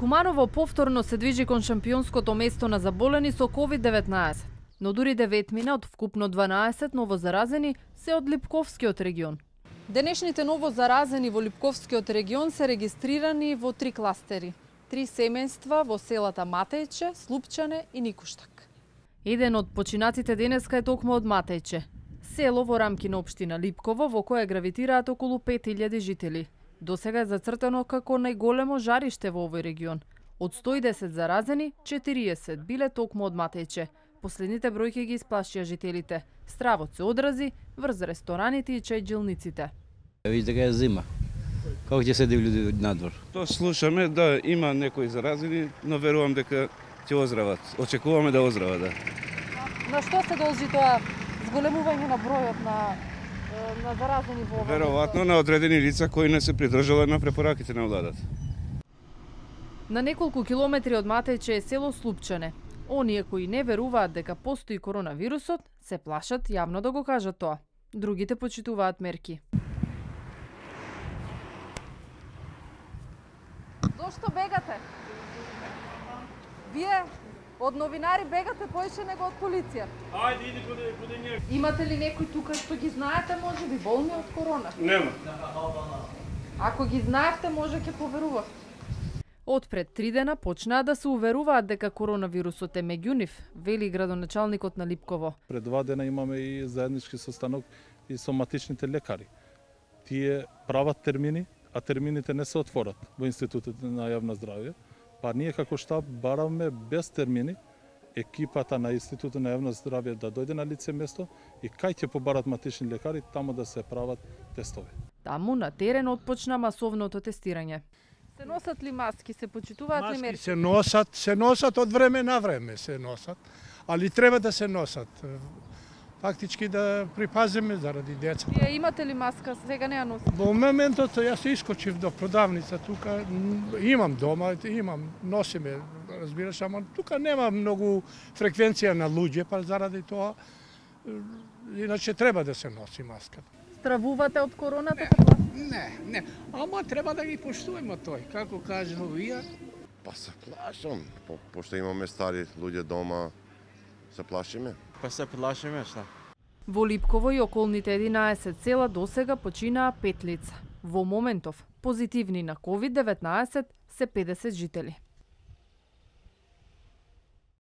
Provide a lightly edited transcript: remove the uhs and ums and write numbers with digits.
Куманово повторно се движи кон шампионското место на заболени со COVID-19, но дури 9 мина од вкупно 12 новозаразени се од Липковскиот регион. Денешните новозаразени во Липковскиот регион се регистрирани во 3 кластери. 3 семејства во селата Матејче, Слупчане и Никуштак. Еден од починаците денеска е токму од Матејче, село во рамки на општина Липково, во кое гравитираат околу 5000 жители. Досега е зацртано како најголемо жариште во овој регион. Од 110 заразени, 40 биле токму од Матејче. Последните бројки ги исплашија жителите. Стравот се одрази врз рестораните и чајджилниците. Видите дека е зима. Како ќе седи луѓе надвор? То слушаме да има некои заразени, но верувам дека ќе оздрават. Очекуваме да оздрават, да. На што се должи тоа зголемување на бројот на заразени во овој? Веројатно на одредени лица кои не се придржале на препораките на владата. На неколку километри од Матејче е село Слупчане. Оние кои не веруваат дека постои коронавирусот, се плашат јавно да го кажат тоа. Другите почитуваат мерки. Зошто бегате? Вие од новинари бегате поише него од полиција. Ајде, иди куде ние. Имате ли некои тука што ги знаете, може би болни од корона? Нема. Ако ги знаевте, може ќе поверувавте. Од пред 3 дена почнаа да се уверуваат дека коронавирусот е меѓу нив, вели градоначалникот на Липково. Пред 2 дена имаме и заеднички состанок и со матичните лекари. Тие прават термини, а термините не се отворат во Институтот на јавно здравје. Па ние како штаб бараме без термини екипата на Институтот на јавно здравје да дојде на лице место и кај ќе побарат матични лекари таму да се прават тестови. Таму на терен отпочна масовното тестирање. Се носат ли маски, се почитуваат ли мерки? Се носат од време на време се носат, али треба да се носат. Фактички да припазиме заради деца. Вие имате ли маска? Сега не ја носите? Во моментот јас искочив до продавница тука, имам дома, носиме, разбираш, ама тука нема многу фреквенција на луѓе, па заради тоа иначе треба да се носи маска. Стравувате од короната? Не, ама треба да ги поштуваме тој, како кажано вие. Па се плашам, пошто имаме стари луѓе дома, се плашиме. Па се плашиме, шта? Во Липково и околните 11 села досега починаа 5 лица. Во моментов, позитивни на COVID-19 се 50 жители.